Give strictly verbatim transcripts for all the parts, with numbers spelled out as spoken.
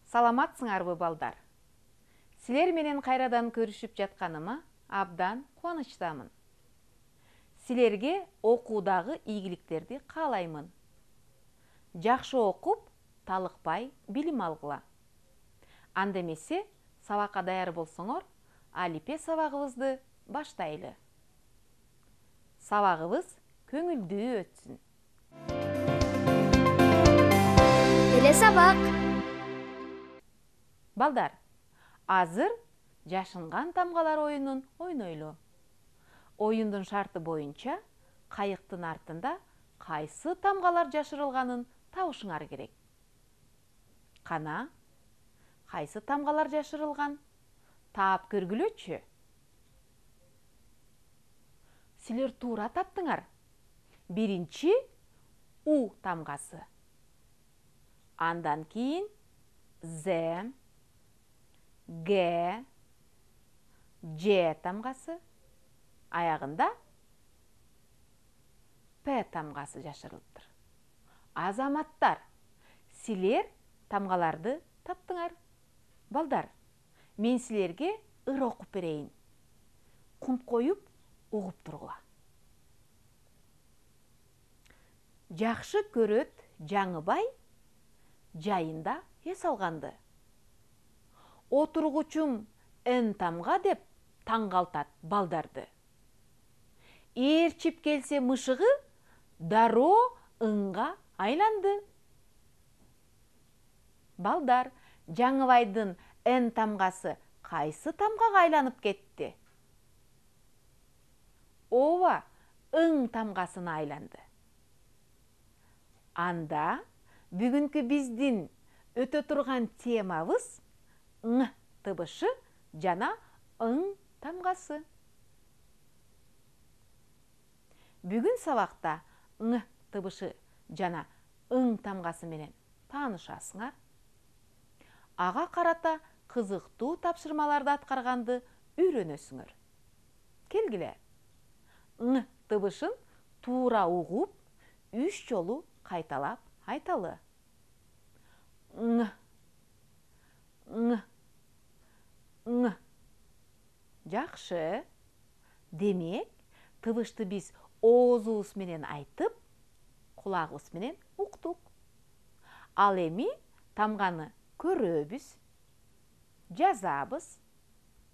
Саламатсыңарбы балдар? Силер менен кайрадан көрүшүп жатканыма абдан кубанычтамын. Силерге окуудагы ийгиликтерди каалаймын. Жакшы окуп, талыкпай билим алгыла. Анда эмесе, сабакка даяр болсоңор, алипе сабагыбызды баштайлы. Сабагыбыз көңүлдүү өтсүн. Эле сабак. Балдар, азыр жашынган тамгалар оюнун ойнойлу. Оюндун шарты боюнча кайыктын артында кайсы тамгалар жашырылганын табышыңар керек. Кана, кайсы тамгалар жашырылган? Таап көргүлөчү. Силер туура таптыңар. Биринчи У тамгасы. Андан кийин З, Г, Ж тамгасы, аягында П тамгасы жашырылыптыр. Азаматтар, силер тамгаларды таптыңар. Балдар, мен силерге ыр окуп берейин. Кунт коюп, угуп тургула. Жакшы көрөт Жаңыбай жайында эс алганды. Отургучум Н тамга деп таңгалтат балдарды. Ээрчип келсе мышыгы дароо ыңга айланды. Балдар, Жаңыбайдын Н тамгасы кайсы тамгага айланып кетти? Ооба, ың тамгасына айланды. Анда бүгүнкү биздин өтө турган темабыз Ң тыбышы жана ың тамгасы. Бүгүн сабакта Ң тыбышы жана ың тамгасы менен таанышасыңар. Ага карата кызыктуу тапшырмаларды аткарганды үйрөнөсүңөр. Келгиле. Ң тыбышын туура угуп, үч жолу кайталап айталы. Ң, ң, ң. Жакшы. Демек, тыбышты биз оозубуз менен айтып, кулагыбыз менен уктук. Ал эми тамганы көрөбүз, жазабыз,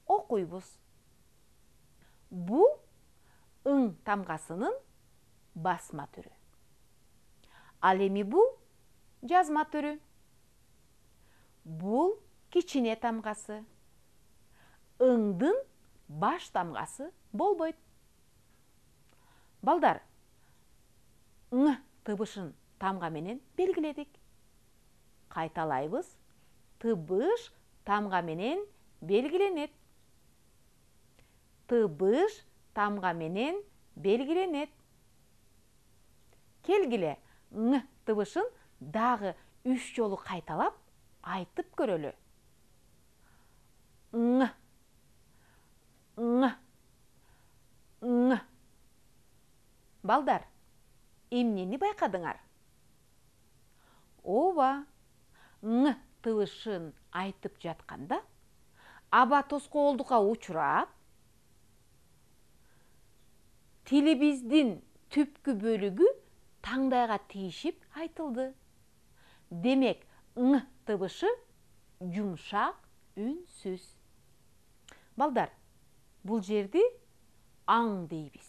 окуйбуз. Бул ың тамгасынын басма түрү. Ал эми бул жазма түрү. Бул кичине тамгасы. Ыңдын баш тамгасы болбойт. Балдар, Ң тыбышын тамга менен белгиледик. Кайталайбыз. Тыбыш тамга менен белгиленет. Тыбыш тамга менен белгиленет. Келгиле, Ң тыбышын дагы үч жолу кайталап айтып көрөлү. Ң, ң, ң. Балдар, эмнени байкадыңар? Ооба, Ң тыбышын айтып жатканда аба тоскоолдукка учурап, тилибиздин түпкү бөлүгү таңдайга тийишип айтылды. Демек, Ң тыбышы жумшак үнсүз. Балдар, бул жерди аң дейбиз.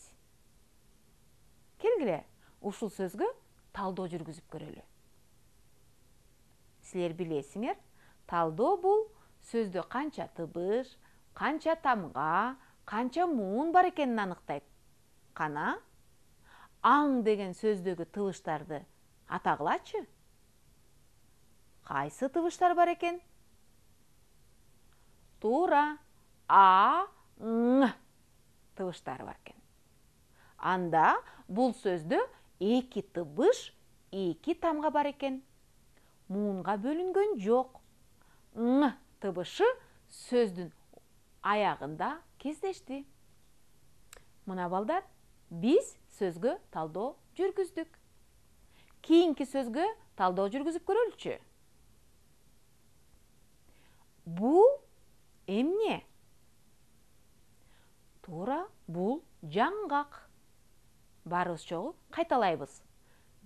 Келгиле, ушул сөзгө талдоо жүргүзүп көрөлү. Силер билесиңер, талдоо бул сөздө канча тыбыш, канча тамга, канча муун бар экенин аныктайт. Кана, аң деген сөздөгү тыбыштарды атагылачы. Кайсы тыбыштар бар экен? Туура, А, Ң тыбыштары бар экен. Анда бул сөздө эки тыбыш, эки тамга бар экен. Муунга бөлүнгөн жок. Ң тыбышы сөздүн аягында кездешти. Мына балдар, биз сөзгө талдоо жүргүздүк. Кийинки сөзгө талдоо жүргүзүп көрөлүчү. Бул эмне? Туура, бул жаңгак. Баарыбыз чогуу кайталайбыз.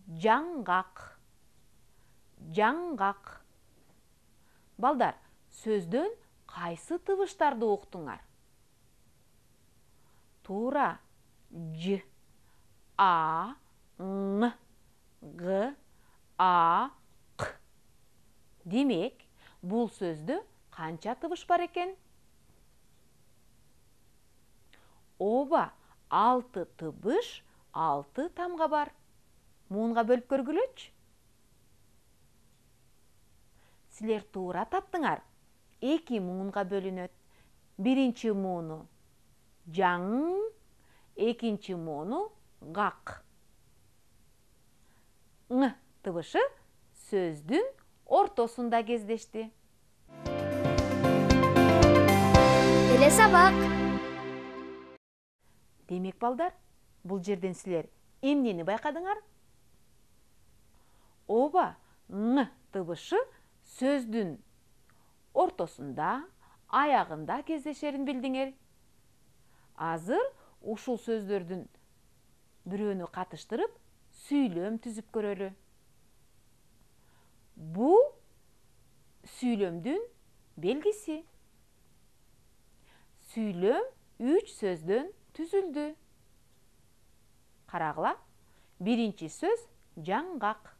Жаңгак. Жаңгак. Балдар, сөздөн кайсы тыбыштарды уктуңар? Туура, ж, а, ң, г, а, к. Демек, бул сөздө канча тыбыш бар экен? Ооба, алты тыбыш, алты тамга бар. Муунга бөлүп көргүлөчү. Силер туура таптыңар. Эки муунга бөлүнөт. Биринчи мууну жаң, экинчи мууну гак. Ң тыбышы сөздүн ортосунда кездешти. Эле сабак. Демек, балдар, бул жерден силер эмнени байкадыңар? Ооба, ң тыбышы сөздүн ортосунда, аягында кездешерин билдиңер. Азыр ушул сөздөрдүн бирөөнү катыштырып, сүйлөм түзүп көрөлү. Бул сүйлөмдүн белгиси. Сүйлөм үч сөздөн түзүлдү. Карагыла, биринчи сөз жаңгак.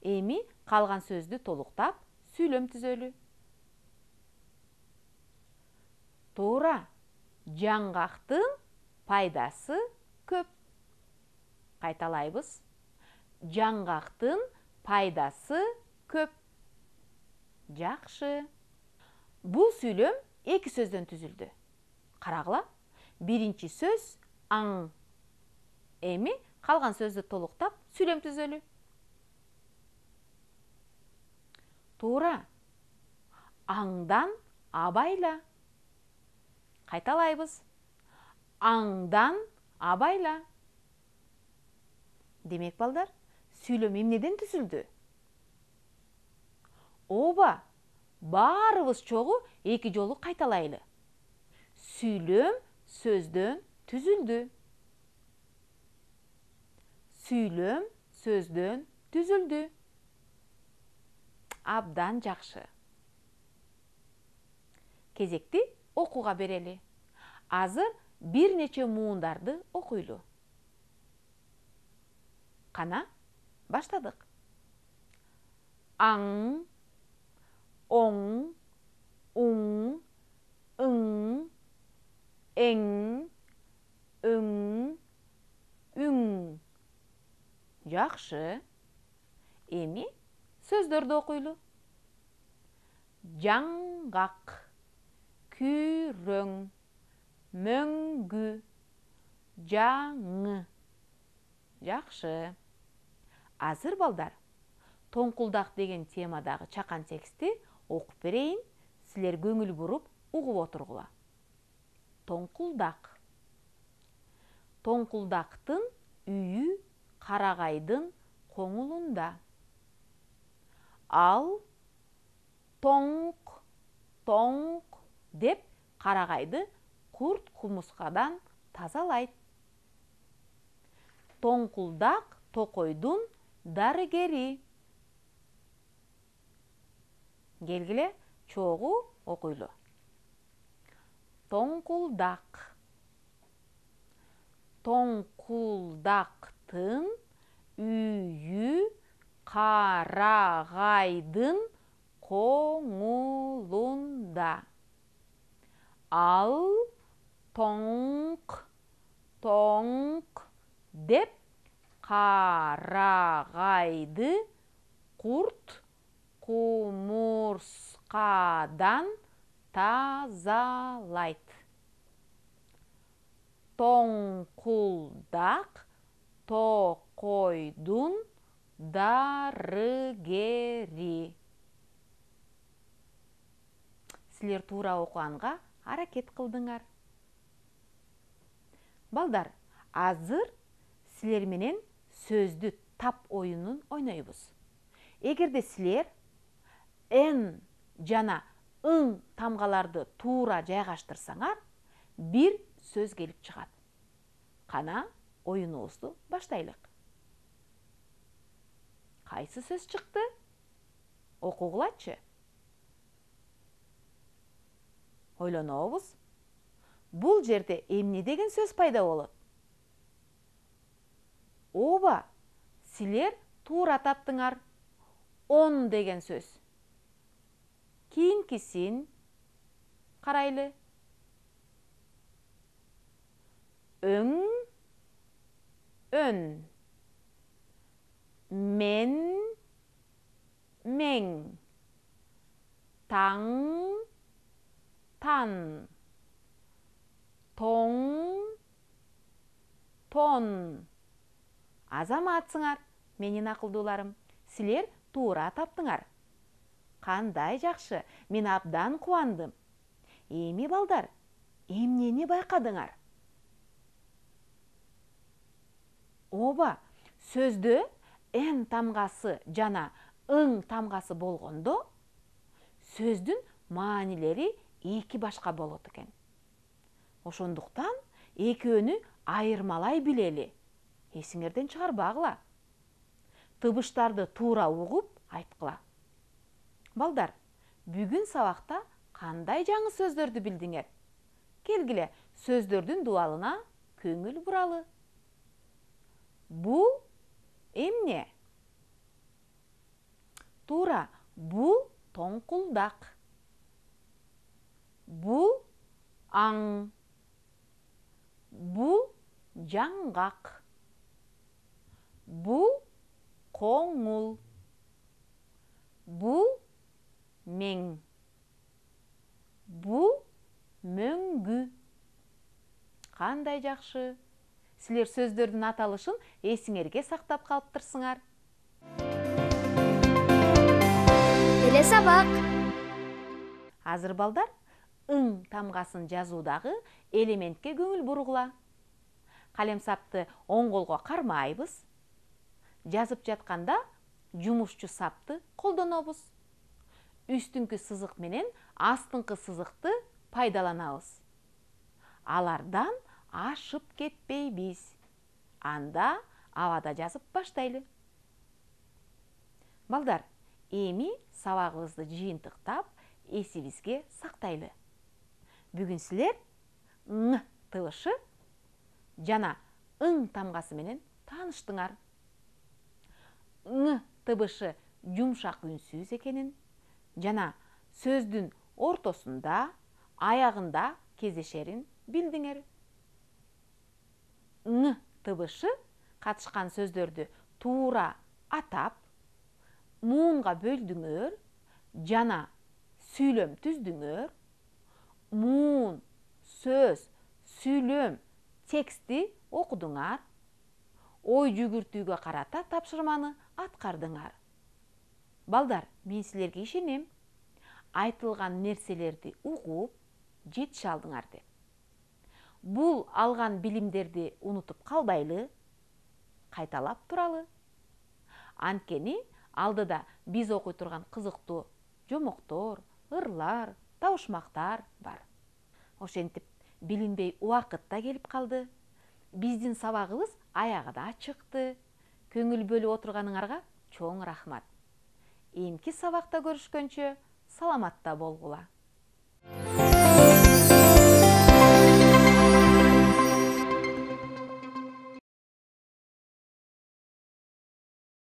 Эми калган сөздү толуктап, сүйлөм түзөлү. Туура, жаңгактын пайдасы көп. Кайталайбыз. Жаңгактын пайдасы көп. Жакшы. Бул сүйлөм эки сөздөн түзүлдү. Карагыла, биринчи сөз аң. Эми калган сөздү толуктап, сүйлөм түзөлү. Туура. Аңдан абайла. Кайталайбыз. Аңдан абайла. Демек, балдар, сүйлөм эмнеден түзүлдү? Ооба, баарыбыз чогуу эки жолу кайталайлы. Сүйлөм сөздөн түзүлдү. Сүйлөм сөздөн түзүлдү. Абдан жакшы. Кезекти окууга берели. Азыр бир нече муундарды окуйлу. Кана, баштадык. Аң, оң, уң, ың, эң, өң, үң. Жакшы. Эми сөздөрдү окуйлу. Жаңгак, күрөң, мөңгү, жаңы. Жакшы. Азыр, балдар, тоңкулдак деген темадагы чакан текстти окуп берейин. Силер көңүл буруп угуп отургула. Тоңкулдак. Тоңкулдактын үйү карагайдын коңулунда. Ал тоңк, тоңк деп карагайды курт кумускадан тазалайт. Тоңкулдак токойдун дарыгери. Келгиле, чогуу окуйлу. Тоңкулдак. Тоңкулдактын үйү карагайдын коңулунда. Ал тоңк, тоңк деп карагайды курт кумурскадан тазалайт. Тоңкулдак токойдун дарыгери. Силер туура окуганга аракет кылдыңар. Балдар, азыр силер менен сөздү тап оюнун ойнойбуз. Эгерде силер н жана ың тамгаларды туура жайгаштырсаңар, бир сөз келип чыгат. Кана, оюнубузду баштайлык. Кайсы сөз чыкты? Окугулачы. Ойлонобуз. Бул жерде эмне деген сөз пайда болот? Ооба, силер туура таптыңар. Он деген сөз. Кийинкисин карайлы. Өң, өн. Мен, мең. Таң, тан. Тоң, тон. Азаматсыңар, менин акылдууларым. Силер туура таптыңар. Кандай жакшы, мен абдан кубандым. Эми балдар, эмнени байкадыңар? Ооба, сөздө эн тамгасы жана ың тамгасы болгондо, сөздүн маанилери эки башка болот экен. Ошондуктан экөөнү айырмалай билели. Эсиңерден чыгарбагыла. Тыбыштарды туура угуп айткыла. Балдар, бүгүн сабакта кандай жаңы сөздөрдү билдиңер? Келгиле, сөздөрдүн дуалына көңүл буралы. Бул эмне? Туура, бул тоңкулдак. Бул аң. Бул жаңгак. Бул коңул. Бул мең. Бул мөңгү. Кандай жакшы. Силер сөздөрдүн аталышын эсиңерге сактап калыптырсыңар. Эле сабак. Азыр балдар, ың тамгасын жазуудагы элементке көңүл бургула. Калемсапты оң колго кармайбыз. Жазып жатканда жумушчу сапты колдонобуз. Үстүңкү сызык менен астыңкы сызыкты пайдаланабыз. Алардан ашып кетпейбиз. Анда абада жазып баштайлы. Балдар, эми сабагыбызды жыйынтыктап, эсибизге сактайлы. Бүгүн силер ң тыбышы жана ың тамгасы менен тааныштыңар. Ң тыбышы жумшак үнсүз экенин жана сөздүн ортосунда, аягында кездешерин билдиңер. Ң тыбышы катышкан сөздөрдү туура атап, муунга бөлдүңөр жана сүйлөм түздүңөр. Муун, сөз, сүйлөм, тексти окудуңар. Ой жүгүртүүгө карата тапшырманы аткардыңар. Балдар, мен силерге ишенем. Айтылган нерселерди угуп, жетише алдыңар деп. Бул алган билимдерди унутуп калбайлы, кайталап туралы. Анткени алдыда биз окуй турган кызыктуу жомоктор, ырлар, табышмактар бар. Ошентип, билинбей убакыт да келип калды. Биздин сабагыбыз аягына чыкты. Көңүл бөлүп отурганыңарга чоң рахмат. Эмки сабакта көрүшкөнчө саламатта болгула.